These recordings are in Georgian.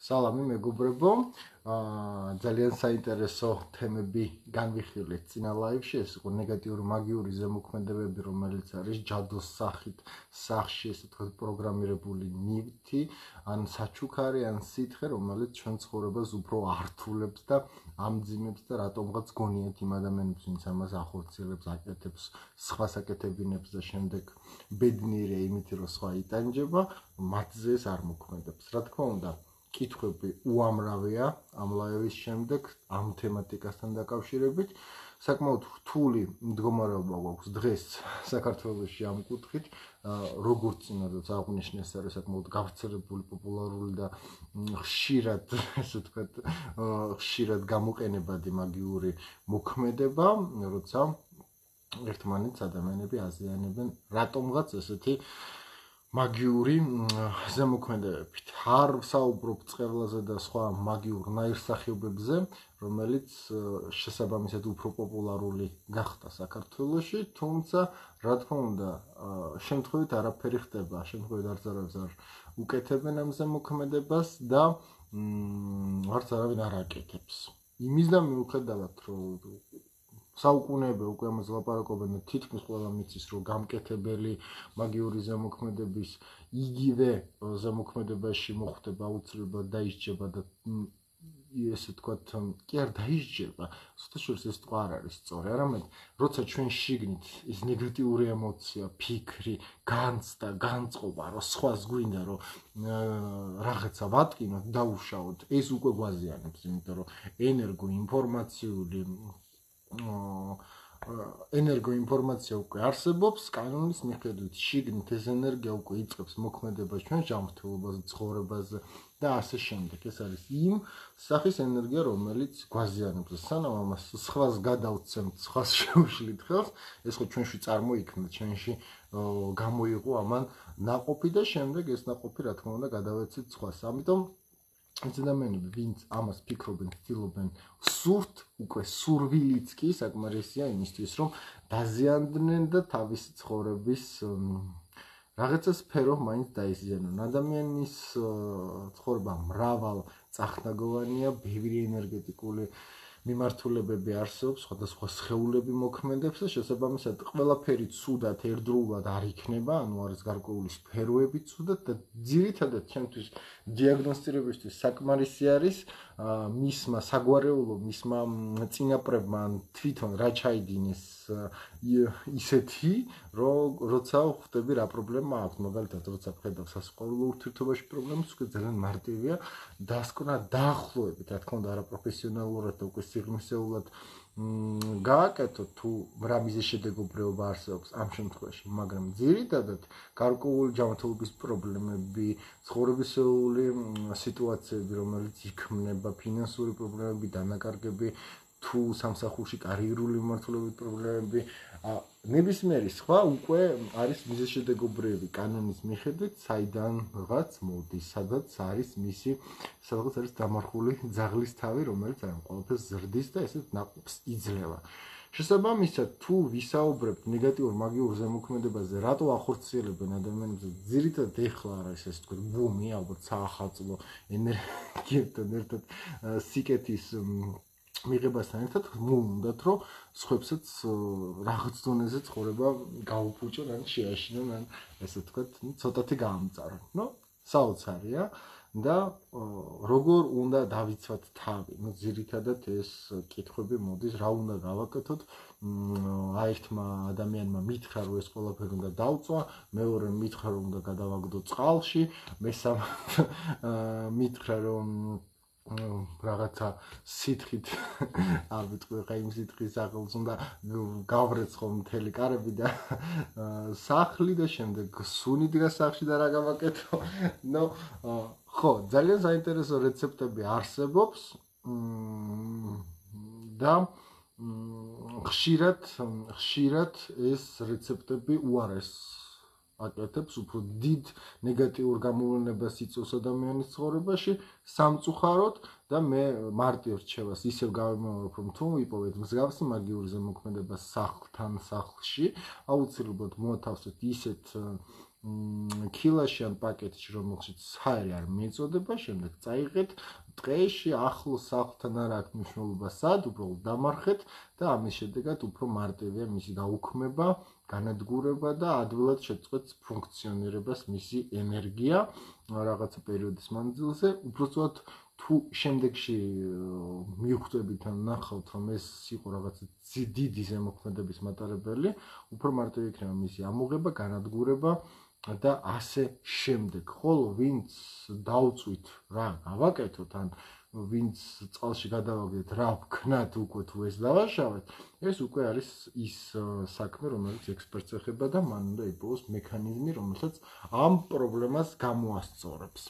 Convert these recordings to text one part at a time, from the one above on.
სალამი მეგობრებო, ძალიან საინტერესო თემები განვიხილეთ წინა ლაივში, ეს იყო ნეგატიური მაგიური ზემოქმედებები, რომელიც არის ჯადოს სახში, ესე ვთქვათ, პროგრამირებული ნივთი, ან საჩუქარი, ან სითხე, რომელიც ჩვენ ცხოვრებას უფრო ართულებს და ამძიმებს და რატომღაც გონიათ იმ ადამიანებს, ვინც ამას ახორციელებს, აკეთებს, სხვა საკეთებინებს და შემდეგ ბედნიერია იმით, რომ სხვა იტანჯება, მათზე ეს არ მოქმედებს. რა თქმა უნდა, კითხვები უამრავია ამ ლაივის შემდეგ ამ თემატიკასთან დაკავშირებით. საკმაოდ რთული მდგომარეობა გვაქვს დღეს საქართველოში ამ კუთხით, როგორც წინადაც აღნიშნეს, არის საკმაოდ გავრცელებული, პოპულარული და ხშირად, ესე ვთქვათ, ხშირად გამოყენებადი მაგიური მოქმედება, როცა ერთმანეთს ადამიანები აზიანებენ რატომღაც ესეთი მაგიური ზემოქმედებებით. არ ვსაუბრობ წყევლაზე და სხვა მაგიურ ნაირსახეობებზე, რომელიც შესაბამისად უფრო პოპულარული გახდა საქართველოში, თუმცა რა თქმა უნდა, შემთხვევით არაფერი ხდება, შემთხვევით არც არ უკეთებენ ამ ზემოქმედებას და არც არავინ არ აკეთებს. იმისდა მიუხედავად, რომ საუკუნეები უკვე ამაზე ლაპარაკობენ და თითქმის ყველა მიცის, რომ გამკეთებელი მაგიური ზემოქმედების იგივე ზემოქმედებაში მოხდება აუცილებლად დაისჯება და ესე ვთქვათ, კი არ დაისჯება, სულ ეს თქო არ არის სწორი, არამედ როცა ჩვენ შიგნით ის ნეგატიური ემოცია, ფიქრი, განცდა, განწყობა, რომ სხვას გვინდა, რომ რაღაცა ვატკინოთ, დაუშავოთ, ეს უკვე გვაზიანებს, იმიტომ რომ ენერგოინფორმაცია უკვე არსებობს, კანონის მიხედვით შიგნით ეს ენერგია უკვე იწყებს მოქმედებას ჩვენ ჯანმრთელობაზე, ცხოვრებაზე და ასე შემდეგ. ეს არის იმ სახის ენერგია, რომელიც გვაზიანებს. სანამ ამას სხვას გადავცემთ, სხვას შევშლით ხელს, ეს ხო ჩვენში წარმოიქმნა, ჩვენში გამოიყო ამან ნაყოფი და შემდეგ ეს ნაყოფი, რა თქმა უნდა, გადავეცით სხვას. ამიტომ ეს ადამიანები, ვინც ამას ფიქრობენ, ცდილობენ სურთ, უკვე სურვილიც კი საკმარისია იმისთვის, რომ დაზიანდნენ და თავისი ცხოვრების რაღაცა სფერო მაინც დაიზიანონ. ადამიანის ცხოვრება მრავალ წახნაგოვანია, ბევრი ენერგეტიკული მიმართულებები არსებობს, სხვადასხვა სხეულები მოქმედებს და შესაბამისად ყველაფერი ცუდად ერთდროულად არ იქნება, ანუ არის გარკვეული სფეროები ცუდად და ძირითადად ჩემთვის დიაგნოსტირებისთვის საკმარისი არის მისმა საგვარეულო, მისმა წინაპრებმა თვითონ რა ჩაიდინეს ისეთი, როცა ხვდები რა პრობლემა აქვს, მაგალითად, როცა ვხედავ სასწავლო ურთიერთობაში პრობლემას, უკვე ძალიან მარტივია დასკვნა დაახლოებით, რა თქმა უნდა, არაპროფესიონალურად და უკვე სიღრმისეულად გააკეთოთ თუ რა მიზეზი შედეგობრივობა არსებობს ამ შემთხვევაში, მაგრამ ძირითადად გარკვეული ჯანმრთელობის პრობლემები, ცხოვრებისეული სიტუაციები, რომელიც იქმნება, ფინანსური პრობლემები, დანაკარგები, თუ სამსახურში კარიერული მიმართულებით პრობლემები, ნებისმიერი სხვა უკვე არის მიზეზშედეგობრივი კანონის მიხედვით, საიდანღაც მოდის, სადაც არის დამარხული ძაღლის თავი, რომელიც ამ ყველაფერს ზრდის და ესეთ ნაყოფს იძლევა. შესაბამისად, თუ ვისაუბრებთ ნეგატიურ მაგიურ ზემოქმედებაზე, რატო ახორციელებენ ადამიანებს, ძირითადად ეხლა არის ეს თქვენ ბუმი, ალბათ საახალწლო ენერგიებთან ერთად სიკეთის მიღებასთან ერთად მოუნდათ, რომ სხვებსაც რაღაც დონეზე ცხოვრება გაუფუჭონ, ან შეაშინონ, ან ესე ვთქვათ, ცოტათი გაამწარონ. საოცარია და როგორ უნდა დავიცვათ თავი? ძირითადად ეს კითხვები მოდის, რა უნდა გავაკეთოთ? ერთმა ადამიანმა მითხრა, რომ ეს ყველაფერი უნდა დავწვა, მეორე მითხრა, რომ უნდა გადავაგდო წყალში, მესამე მითხრა, რომ რაღაცა სითხით, არ ვიტყვი ხა იმ სითხის სახელს, უნდა გავრეცხო მთელი კარები და სახლი და შემდეგ სუნი დგას სახლში და რა გავაკეთო. ხო, ძალიან საინტერესო რეცეპტები არსებობს და ხშირად ეს რეცეპტები უარეს აკეთებს, უფრო დიდ ნეგატიურ გამოვლენებას იწვევს ადამიანის ცხოვრებაში, სამწუხაროდ და მე მარტივ რჩევას ისევ გავიმეორებ, რომ თუ იპოვეთ მსგავსი მაგიური ზემოქმედება სახლში, აუცილებლად მოათავსეთ ისეთ ქილაში ან პაკეტში, რომელშიც ჰაერი არ მიეწოდება, შემდეგ წაიღეთ, დღეში ახლოს სახლთან არ აქვს მნიშვნელობა სად, უბრალოდ დამარხეთ და ამის შედეგად უფრო მარტივია მისი გაუქმება, განადგურება და ადვილად შეწყვეტს ფუნქციონირებას მისი ენერგია რაღაცა პერიოდის მანძილზე. უბრალოდ თუ შემდეგში მივხვდებით ან ნახავთ, რომ ეს იყო რაღაცა დიდი ზემოქმედების მატარებელი, უფრო მარტივი იქნება მისი ამოღება, განადგურება და ასე შემდეგ. ხოლო ვინც დაუწვით რა გავაკეთოთ, ან ვინც წყალში გადავაგდეთ რა ვქნათ უკვე თუ ეს დავაშავეთ, ეს უკვე არის ის საქმე, რომელიც ექსპერტს ეხება და მან უნდა იპოვოს მექანიზმი, რომელსაც ამ პრობლემას გამოასწორებს.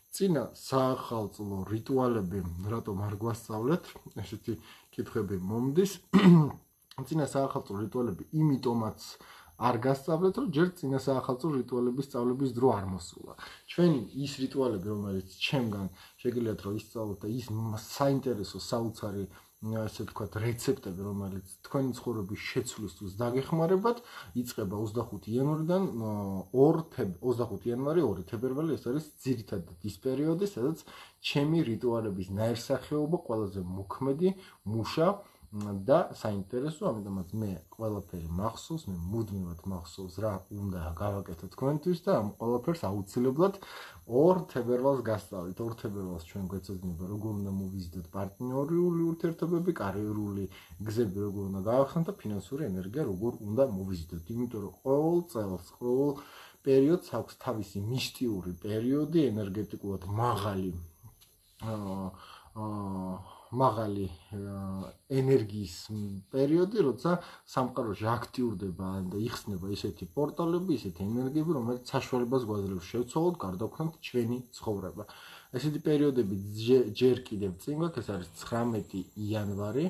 წინა საახალწლო რიტუალები რატომ არ გვასწავლეთ? ესეთი კითხვები მომდის. წინა საახალწლო რიტუალები იმიტომაც არ გასწავლეთ, რომ ჯერ წინა საახალწლო რიტუალების სწავლების დრო არ მოსულა. ჩვენი ის რიტუალები, რომელიც ჩემგან შეგიძლიათ რომ ისწავლოთ და ის საინტერესო საოცარი ასე ვთქვათ, რეცეპტები, რომელიც თქვენი ცხოვრების შეცვლისთვის დაგეხმარებათ, იწყება 25 იანვრიდან 25 იანვარი 2 თებერვალი, ეს არის ძირითადად ის პერიოდი, სადაც ჩემი რიტუალების ნაირსახეობა ყველაზე მოქმედი, მუშა და საინტერესო, ამიტომაც მე ყველაფერი მახსოვს, მე მუდმივად მახსოვს რა უნდა გავაკეთო თქვენთვის და ამ ყველაფერს აუცილებლად 2 თებერვალს გასწავლით. 2 თებერვალს ჩვენ გვეცოდინება როგორ უნდა მოვიზიდოთ პარტნიორული ურთიერთობები, კარიერული გზები როგორ უნდა გავახსნათ და ფინანსური ენერგია როგორ უნდა მოვიზიდოთ. იმიტომ რომ ყოველ წელს, ყოველ პერიოდს აქვს თავისი მისტიური პერიოდი, ენერგეტიკულად მაღალი ენერგიის პერიოდი, როცა სამყაროში აქტიურდება და იხსნება ისეთი პორტალები, ისეთი ენერგიები, რომელიც საშუალებას გვაძლევს შევცვალოთ, გარდაგვხსნათ ჩვენი ცხოვრება. ესეთი პერიოდები ჯერ კიდევ წინ გვაქვს, ეს არის 19 იანვარი,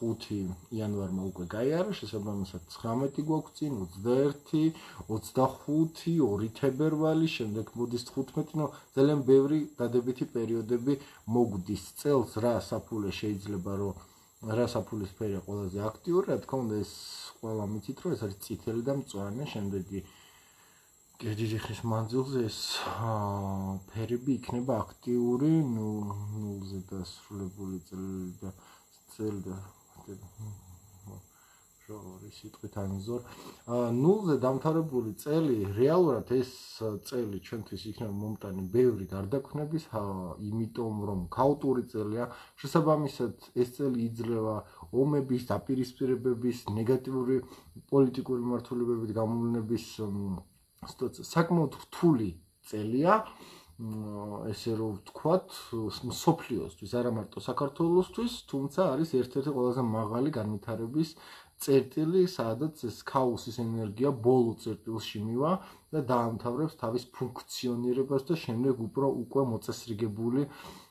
5 იანვარმა უკვე გაიარა, შესაბამისად 19 გვაქვს წინ, 21, 25, 2 თებერვალი, შემდეგ მოდის 15, ნუ ძალიან ბევრი დადებითი პერიოდები მოგვდის. წელს რა საფულე შეიძლება რომ რა საფულის ფერია ყველაზე აქტიური, რა თქმა უნდა ეს ყველა მიცით რომ ეს არის წითელი და მწვანე, შემდეგი დიდი ხის მანძილზე ეს ფერები იქნება აქტიური, ნულზე დასრულებული წელი და შორი სიტყვით ანიზორ. ნულზე დამთავრებული წელი, რეალურად ეს წელი ჩვენთვის იქნება მომტანი ბევრი გარდაქმნების, იმიტომ რომ ქაოტური წელია, შესაბამისად ეს წელი იძლევა ომების, დაპირისპირებების, ნეგატიური პოლიტიკური მმართველობებით გამოვლენების საკმაოდ რთული წელია. ესე რომ ვთქვათ, მსოფლიოსთვის, არა მარტო საქართველოსთვის, თუმცა არის ერთ-ერთი ყველაზე მაღალი განვითარების წერტილი, სადაც ეს ქაოსის ენერგია ბოლო წერტილში მივა და დაამთავრებს თავის ფუნქციონირებას და შემდეგ უკვე მოწესრიგებული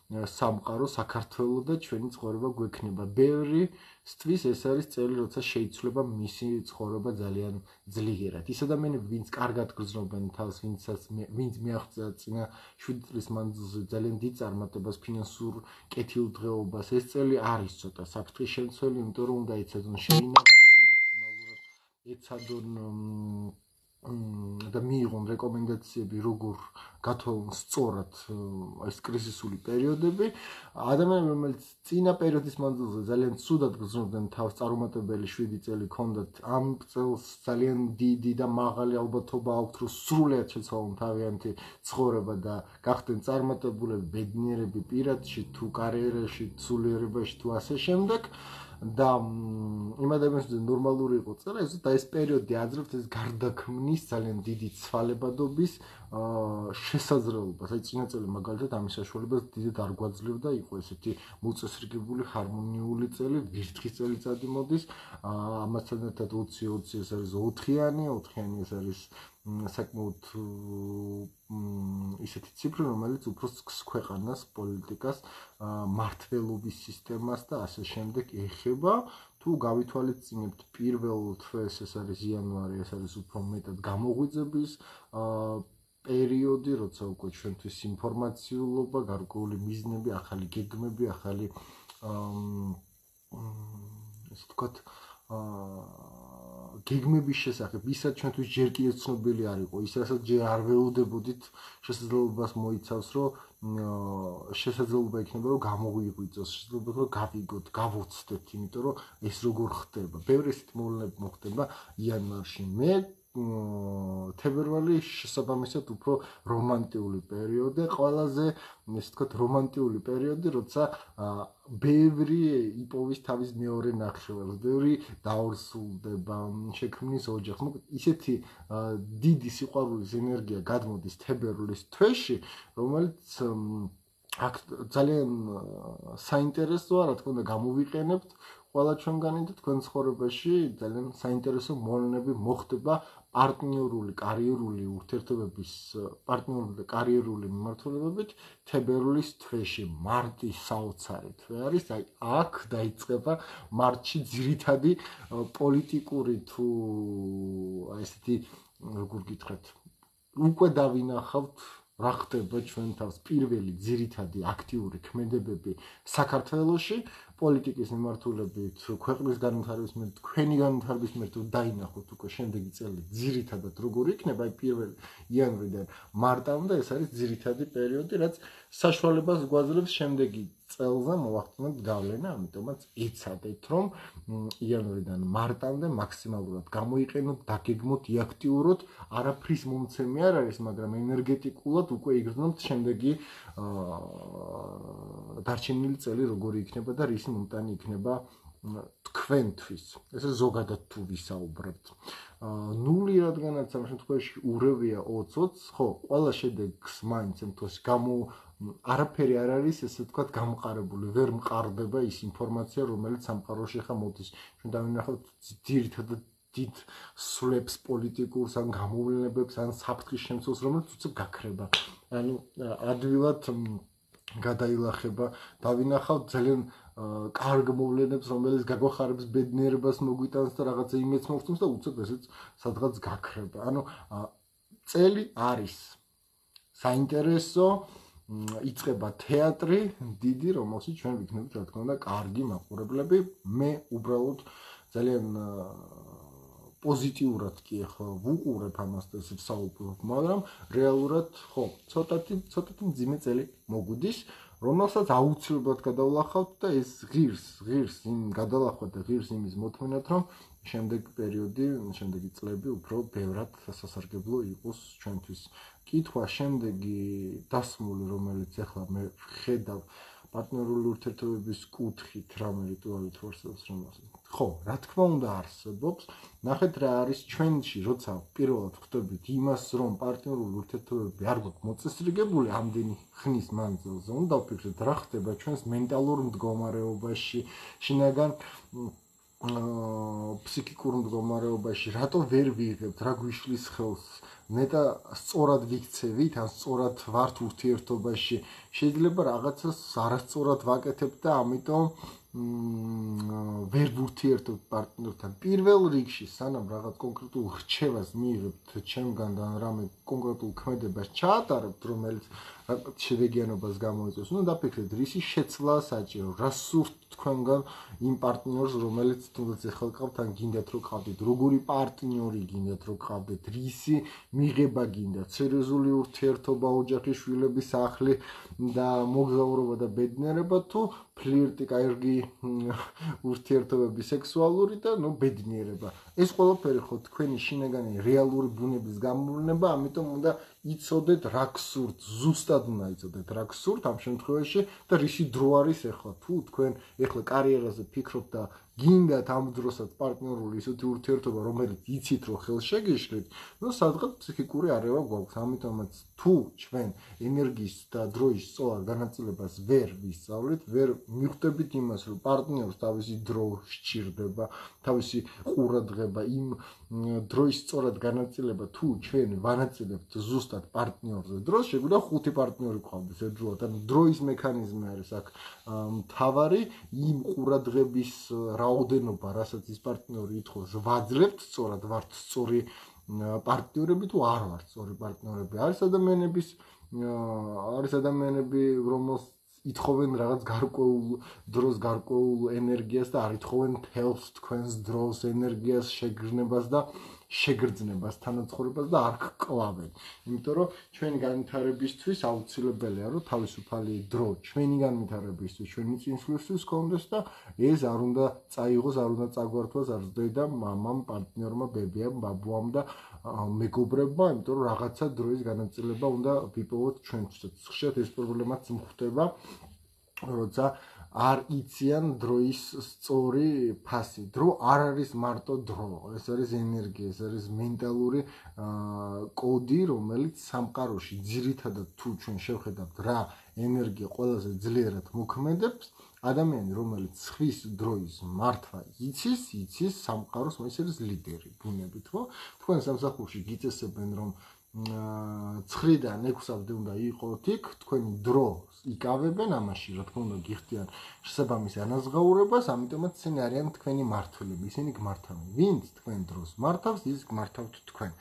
სამყარო, საქართველო და ჩვენი ცხოვრება გვექნება. ბევრისთვის ეს არის წელი, როცა შეიცვლება მისი ცხოვრება ძალიან ძლიერად. ის ადამიანები, ვინც კარგად გრძნობენ თავს, ვინც მიაღწია წინა 7 წლის მანძილზე ძალიან დიდ წარმატებას, ფინანსურ კეთილდღეობას, ეს წელი არის ცოტა საფრთხის შემცველი, იმიტომ რომ უნდა ეცადონ შეინარჩუნონ მაქსიმალურად, ეცადონ და მიიღონ რეკომენდაციები, როგორ გათვალონ სწორად ეს კრიზისული პერიოდები. ადამიანები, რომელიც წინა პერიოდის მანძილზე ძალიან ცუდად გრძნობდნენ თავს, წარუმატებელი 7 წელი ჰქონდათ, ამ წელს ძალიან დიდი და მაღალი ალბათობა აქვთ, რომ სრულად შეცვალონ თავიანთი ცხოვრება და გახდნენ წარმატებულები, ბედნიერები პირადში, თუ კარიერაში, სულიერებაში, თუ ასე შემდეგ. და იმ ადამიანს ნორმალური იყო წელი, და ეს პერიოდი აძლევთ ეს გარდაქმნის ძალიან დიდი ცვალებადობის შესაძლებლობას. აი წინა წელი მაგალითად ამის საშუალებას დიდად არ გვაძლევდა, იყო ესეთი მოწესრიგებული ჰარმონიული წელი, ვირთხის წელიწადი მოდის, ამასთან ერთად 20-20 ეს არის 4-იანი ეს არის საკმაოდ ისეთი ციფრი, რომელიც უფრო ქვეყანას, პოლიტიკას, მართლობის სისტემას და ასე შემდეგ ეხება. თუ გავითვალისწინებთ პირველ თვეს, ეს არის იანვარი, ეს არის უფრო მეტად გამოღვიძების პერიოდი, როცა უკვე ჩვენთვის ინფორმაციულობა, გარკვეული მიზნები, ახალი გეგმები, ახალი ესე ვთქვათ გეგმების შესახებ, ისაც ჩვენთვის ჯერ კიდევ ცნობილი არ იყო, ის რასაც ჯერ არ ველოდებოდით, შესაძლებლობას მოიცავს, რომ შესაძლებლობა იქნება, რომ გამოგვიღვიძოს, შესაძლებლობა რომ გავიგოთ, გავოცდეთ, იმიტომ რომ ეს როგორ ხდება. ბევრი ისეთი მოვლენები მოხდება იანვარში. მე თებერვალი შესაბამისად უფრო რომანტიული პერიოდი, ყველაზე ესე ვთქვათ რომანტიული პერიოდი, როცა ბევრი იპოვის თავის მეორე ნახევარს, ბევრი დაორსულდება, შექმნის ოჯახს. მოკლედ ისეთი დიდი სიყვარულის ენერგია გადმოდის თებერვლის თვეში, რომელიც აქ ძალიან საინტერესოა, რა თქმა უნდა, გამოვიყენებთ ყველა ჩვენგანი და თქვენ ცხოვრებაში ძალიან საინტერესო მოვლენები მოხდება პარტნიორული, კარიერული ურთიერთობების, პარტნიორული და კარიერული მიმართულებებით თებერვლის თვეში, მარტის საოცარი თვე არის, აი აქ დაიწყება მარტში ძირითადი პოლიტიკური თუ აი ესეთი როგორ გითხრათ, უკვე დავინახავთ რა ხდება ჩვენ თავს პირველი ძირითადი აქტიური ქმედებები საქართველოში პოლიტიკის მიმართულებით, ქვეყნის განვითარების მიმართ, თქვენი განვითარების მიმართ დაინახოთ უკვე შემდეგი წელი ძირითადად როგორ იქნება, აი 1 იანვრიდან მარტამდე ეს არის ძირითადი პერიოდი, რაც საშუალებას გვაძლევს შემდეგი წელზე მოვახდინოთ გავლენა, ამიტომაც იცადეთ, რომ იანვრიდან მარტამდე მაქსიმალურად გამოიყენოთ, დაგეგმოთ, იაქტიუროთ, არაფრის მომცემი არ არის, მაგრამ ენერგეტიკულად უკვე იგრძნობთ შემდეგი დარჩენილი წელი როგორი იქნება და რის მომტანი იქნება თქვენთვის. ესე ზოგადად თუ ვისაუბრებთ. ნული რადგანაც ამ შემთხვევაში ურევია 20-20, ხო, ყველა შედეგს მაინც ამ თვეს არაფერი არ არის, ესე ვთქვათ, გამყარებული, ვერ მყარდება ის ინფორმაცია, რომელიც სამყაროში ხა მოდის. ჩვენ დავინახავთ ძირითადად დიდ სვლებს პოლიტიკურს, ან გამოვლენებებს, ან საფრთხის შემცველს, რომელიც უცებ გაქრება. ანუ ადვილად გადაილახება, დავინახავთ ძალიან კარგ მოვლენებს, რომელიც გაგვახარებს ბედნიერებას მოგვიტანს და რაღაცა იმედს მოგცემს და უცებ ესეც სადღაც გაქრება. ანუ წელი არის საინტერესო, იწყება თეატრი დიდი, რომელშიც ჩვენ ვიქნებით, რა თქმა უნდა, კარგი მაყურებლები. მე უბრალოდ ძალიან პოზიტიურად კი ახლა ვუყურებ ამას და ესე ვსაუბრობ, მაგრამ რეალურად ხო, ცოტათი მძიმე წელი მოგვიდის, რომელსაც აუცილებლად გადავლახავთ და ეს ღირს იმ გადალახვა და ღირს იმის მოთმენად, რომ შემდეგი წლები უფრო ბევრად სასარგებლო იყოს ჩვენთვის. კითხვა შემდეგი დასმული, რომელიც ახლა მე ხედავ პარტნიორული ურთიერთობების კუთხით, რამე რიტუალი თუ არსებობს რომელსაც. ხო, რა თქმა უნდა არსებობს. ნახეთ რა არის ჩვენში, როცა პირველად ხვდებით იმას, რომ პარტნიორული ურთიერთობები არ გვაქვს მოწესრიგებული ამდენი ხნის მანძილზე, უნდა ვფიქროთ რა ხდება ჩვენს მენტალურ მდგომარეობაში, შინაგან ფსიქიკურ მდგომარეობაში, რატო ვერ ვიღებთ, რა გვიშლის ხელს, ნეტა სწორად ვიქცევით, ან სწორად ვართ ურთიერთობაში, შეიძლება რაღაცას არასწორად ვაკეთებ და ამიტომ ვერ ვურთიერთობთ პარტნიორთან. პირველ რიგში, სანამ რაღაც კონკრეტულ რჩევას მიიღებთ ჩემგან და რამე კონკრეტულ ქმედებას ჩაატარებთ, რომელიც შედეგიანობას გამოიწვევს, უნდა დაფიქრეთ, რისი შეცვლა საჭირო, რა სურთ თქვენგან იმ პარტნიორს, რომელიც თუნდაც ეხლა გყავთ, ან გინდათ რომ გყავდეთ, როგორი პარტნიორი გინდათ რომ გყავდეთ, რისი მიღება გინდათ, სერიოზული ურთიერთობა, ოჯახი, შვილები, სახლი და მოგზაურობა და ბედნიერება, თუ ფლირტი, კარგი ურთიერთობები, სექსუალური და ბედნიერება. ეს ყველაფერი ხო თქვენი შინაგანი რეალური ბუნების გამოვლენა, ამიტომ უნდა იცოდეთ რა გსურთ, ზუსტად უნდა იცოდეთ რა გსურთ ამ შემთხვევაში და რისი დრო არის ახლა. თუ თქვენ ახლა კარიერაზე ფიქრობთ და გინდათ ამ დროსაც პარტნიორული ისეთი ურთიერთობა, რომელიც იცით რომ ხელშეგიშლით, სადღაც ფსიქიკური არევა გვაქვს. ამიტომაც თუ ჩვენ ენერგიის და დროის სწორ განაწილებას ვერ ვისწავლით, ვერ მიხვდებით იმას, რომ პარტნიორს თავისი დრო სჭირდება, თავისი ყურადღება, იმ დროის სწორად განაწილება, თუ ჩვენ ვანაწილებთ ზუსტად პარტნიორზე დროს, შეგვიძლია 5 პარტნიორი გყავდეს ერთდროულად. ანუ დროის მექანიზმი არის აქ მთავარი, იმ ყურადღების რაოდენობა, რასაც ის პარტნიორი ითხოვს, ვაძლევთ სწორად, ვართ სწორი პარტნიორები თუ არ ვართ სწორი პარტნიორები. არის ადამიანები, ითხოვენ რაღაც გარკვეულ დროს გარკვეულ ენერგიას და არ ითხოვენ თელს თქვენს დროს ენერგიას შეგრძნებას და შეგრძნებას თანაცხოვრებას და არ გკლავენ. იმიტომ რომ ჩვენი განვითარებისთვის აუცილებელია რომ თავისუფალი დრო ჩვენი განვითარებისთვის, ჩვენი წინსვლისთვის გქონდეს და ეს არ უნდა წაიღოს, არ უნდა წაგვართვას არც დედამ, მამამ, პარტნიორმა, ბებიამ, ბაბუამ და მეგობრებმა, იმიტომ რომ რაღაცა დროის განაწილება უნდა ვიპოვოთ ჩვენთვისაც. ხშირად ეს პრობლემაც მხვდება, როცა არ იციან დროის სწორი ფასი. დრო არ არის მარტო დრო, ეს არის ენერგია, ეს არის მენტალური კოდი, რომელიც სამყაროში ძირითადად თუ ჩვენ შევხედავთ რა ენერგია ყველაზე ძლიერად მოქმედებს, ადამიანი, რომელიც ხვის დროის მართვა იცის სამყაროს, ეს არის ლიდერი ბუნებით, ხო? თქვენ სამსახურში გიწესებენ რომ 9-დან 6-მდე უნდა იყოთ იქ, თქვენი დრო იკავებენ ამაში, რა თქმა უნდა, გიხდიან შესაბამის ანაზღაურებას, ამიტომაც ისინი არიან თქვენი მმართველები, ისინი გმართავენ. ვინც თქვენ დროს მართავს, ის გმართავთ თქვენ.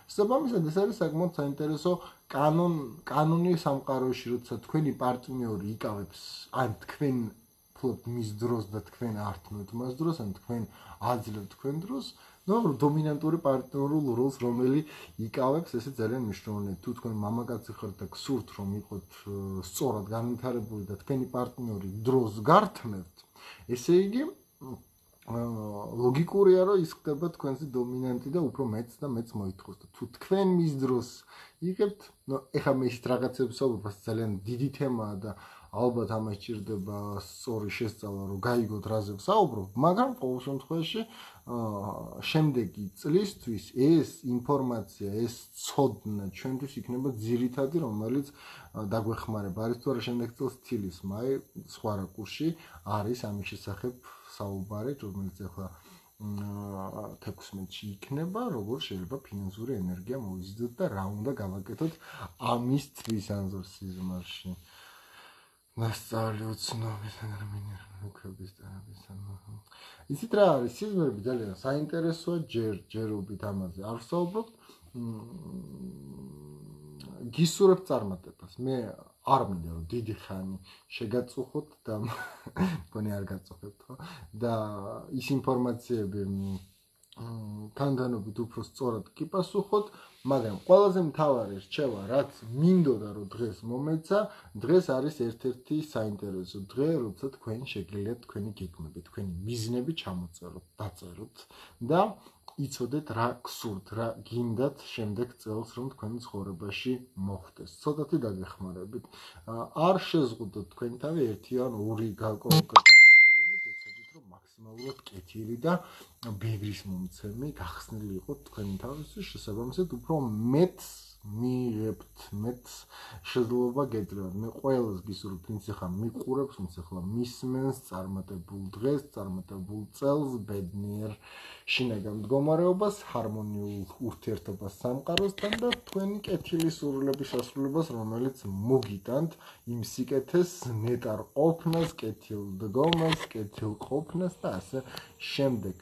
შესაბამისად, ეს არის საკმაოდ საინტერესო კანონი სამყაროში, როცა თქვენი პარტნიორი იკავებს ან თქვენ ფლობთ მის დროს და თქვენ ართმევთ მას დროს, ან თქვენ აძლევთ თქვენ დროს, დომინანტური პარტნიორულ როლს, რომელიც იკავებს, ესე ძალიან მნიშვნელოვანია. თუ თქვენ მამაკაცი ხართ და გსურთ, რომ იყოთ სწორად განვითარებული და თქვენი პარტნიორი დროს გართმევთ, ესე იგი ლოგიკურია, რომ ის ხდება თქვენზე დომინანტი და უფრო მეც და მეც მოითხოვს. თუ თქვენ მის დროს იღებთ, ეხლა მე ისეთ რაღაცებს ვსაუბრობ, ძალიან დიდი თემაა და ალბათ ამას ჭირდება სწორი შესწავლა, რომ გაიგოთ რაზე ვსაუბრობ, მაგრამ ყოველ შემთხვევაში შემდეგი წლისთვის ეს ინფორმაცია, ეს ცოდნა ჩვენთვის იქნება ძირითადი, რომელიც დაგვეხმარება. არის თუ არა შემდეგ წელს თილის მაი სხვა რაკურსში არის ამის შესახებ საუბარი, რომელიც ახლა 16-ში იქნება, როგორ შეიძლება ფინანსური ენერგია მოვიზიდოთ და რა უნდა გავაკეთოთ ამის თვის ანზორ სიზმარში. ნასწავლი უცნობი საგრამინერების დარაბისან. იცით რა არის, სიზმრები ძალიან საინტერესოა, ჯერობით ამაზე არ ვსაუბრობთ. გისურვებთ წარმატებას. მე არ მინდა რომ დიდი ხანი შეგაწუხოთ და მგონი არ გაწუხებთ, ხო? და ის ინფორმაციები თანდანობით უფრო სწორად გიპასუხოთ, მაგრამ ყველაზე მთავარი რჩევა, რაც მინდოდა რომ დღეს მომეცა, დღეს არის ერთ-ერთი საინტერესო დღე, როცა თქვენ შეგიძლიათ თქვენი გეგმები, თქვენი მიზნები ჩამოწეროთ, დაწეროთ და იცოდეთ რა გსურთ, რა გინდათ შემდეგ წელს, რომ თქვენი ცხოვრებაში მოხდეს. ცოტათი დაგეხმარებით. არ შეზღუდოთ თქვენი თავი ერთი ან ორი კონკრეტული სურვილით, ეცადეთ რომ მაქსიმალურად კეთილი და ბევრის მომცემი გახსნილი იყოთ თქვენი თავისთვის, შესაბამისად უფრო მეტს მიიღებთ, მეტს შეძლება გეძლევათ. მე ყველას გისურვებთ, ვინც ახლა მიყურებს, ვინც ახლა მისმენს წარმატებულ დღეს, წარმატებულ წელს, ბედნიერ შინაგან მდგომარეობას, ჰარმონიულ ურთიერთობას სამყაროსთან და თქვენი კეთილი სურვილების შესრულებას, რომელიც მოგიტანთ იმ სიკეთეს, ნეტარ ყოფნას, კეთილ დგომას, კეთილ ყოფნას და ასე შემდეგ.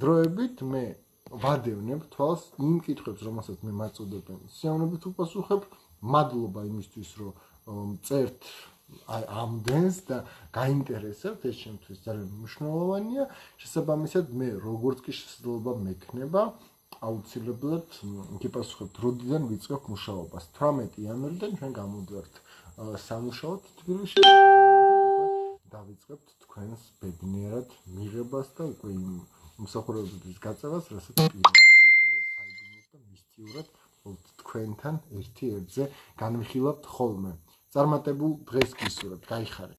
დროებით მე ვადევნებ თვალს იმ კითხვებს, რომელსაც მე მაწუდებენ. სიამოვნებით უპასუხებ, მადლობა იმისთვის, რომ წერთ ამდენს და გაინტერესებთ, ეს ჩემთვის ძალიან მნიშვნელოვანია. შესაბამისად, მე როგორც კი შესაძლებლობა მექნება, აუცილებლად გიპასუხებთ, როდიდან ვიწყებ მუშაობას. 18 იანვრიდან ჩვენ გამოდივართ სამუშაოდ თბილისში. დავიწყებთ თქვენს ბედნიერად მიღებას და უკვე იმ მსახურებების გაწევას, რასაც პირდაპირ საიდუმლოდ და მისტიურად თქვენთან ერთი ერთზე განვიხილავთ ხოლმე. წარმატებულ დღეს გისურვებთ, გაიხარეთ.